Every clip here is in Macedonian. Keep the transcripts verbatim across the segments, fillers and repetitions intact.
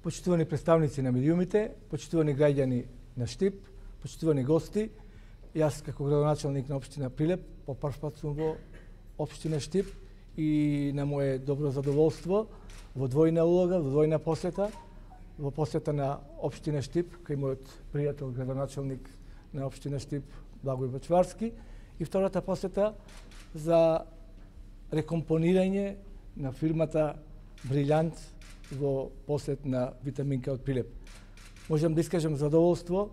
почитувани представници на медиумите, почитувани граѓани на Штип, почитувани гости, јас како градоначалник на општина Прилеп по прв пат сум во општина Штип и на мое добро задоволство во двојна улога, во двојна посета, во посета на општина Штип кај мојот пријател градоначалник на општина Штип Благој Бачварски и втората посета за рекомпонирање на фирмата Брилјант во посет на Витаминка од Прилеп. Можам да искажам задоволство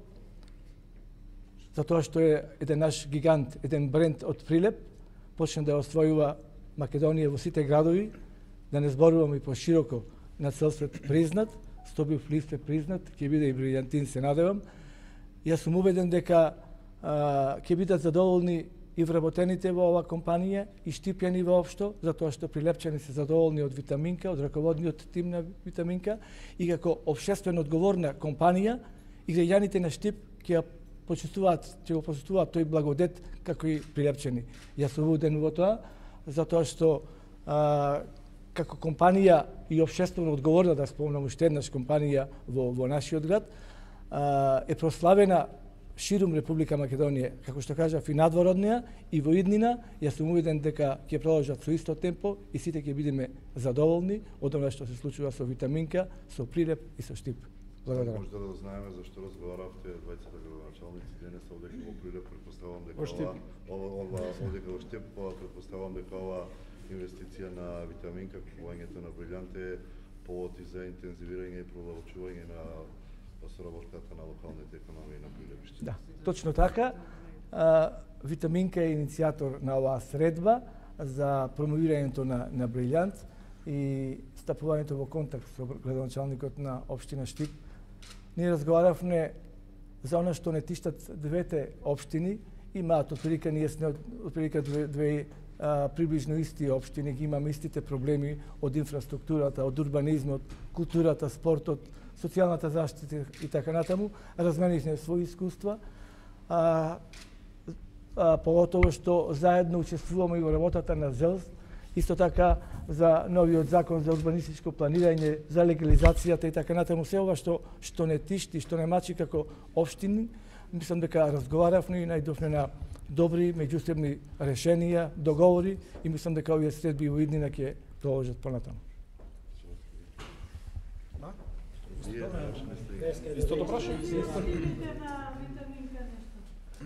затоа што е еден наш гигант, еден бренд од Прилеп, почна да освојува Македонија во сите градови, да не зборуваме и пошироко на цел свет признат, Стобив лист е признат, ќе биде и Брилјантин, се надевам. Јас сум убеден дека а, ќе бидат задоволни и вработените во оваа компанија и штипјани воопшто, затоа што прилепчани се задоволни од Витаминка, од раководниот тим на Витаминка и како општествено одговорна компанија и граѓаните на Штип ќе почувствуваат, ќе го почувствуваат тој благодет како и прилепчани. Јас сум убеден во тоа, затоа што а, како компанија и општествено одговорна, да спомнам уште еднаш компанија во, во нашиот град, а, е прославена ширум Република Македонија, како што кажав, и надвороднија, и во иднина. Јас сум увиден дека ќе продолжат со исто темпо и сите ќе бидеме задоволни од она што се случува со Витаминка, со Прилеп и со Штип. Благодарам. Може да знаеме зашто разговаравте двајцата градоначалници денес овде во Прилеп, претпоставувам дека ова ова овде во Штип, претпоставувам дека ова инвестиција на Витаминка, купувањето на Брилјант е повод и за интензивирање и продолжување на соработката на локалните економии на Прилепиште. Да, точно така. А, Витаминка е иницијатор на оваа средба за промовирањето на, на Брилјант и стапувањето во контакт со градоначалникот на општина Штип. Ние разговаравме за она што не тиштат двете општини, имаат отприлика ние сме отприлика две, две а, приближно исти општини, ги имаме истите проблеми од инфраструктурата, од урбанизмот, културата, спортот, социјалната заштита и така натаму. Разменивме своји искуства, а, а, поготово што заедно учествуваме и во работата на ЗЕЛС, исто така за новиот закон за урбанистичко планирање, за легализацијата и така натаму, се ова што што не тишти, што не мачи како општини. Мислам дека разговаравме и најдовме на добри меѓусебни решенија, договори и мислам дека овие средби во иднина ќе продолжат понатаму. Истото прашање. На Витаминка нешто.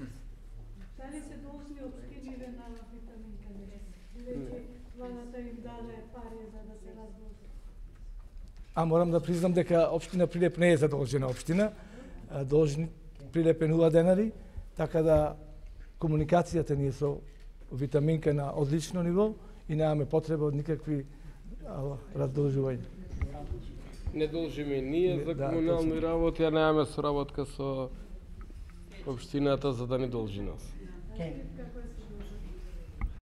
Дали се должни општините на Витаминка нешто? Веќе владата им даде пари за да се раздолжи. А морам да признам дека општина Прилеп не е задолжена општина. Должни Прилеп е нула денари, така да комуникацијата ни е со Витаминка на одлично ниво и немаме потреба од никакви раздолжувања. Не должиме ние за комунални да, работи, а немаме соработка со општината за да не должи нас. Како е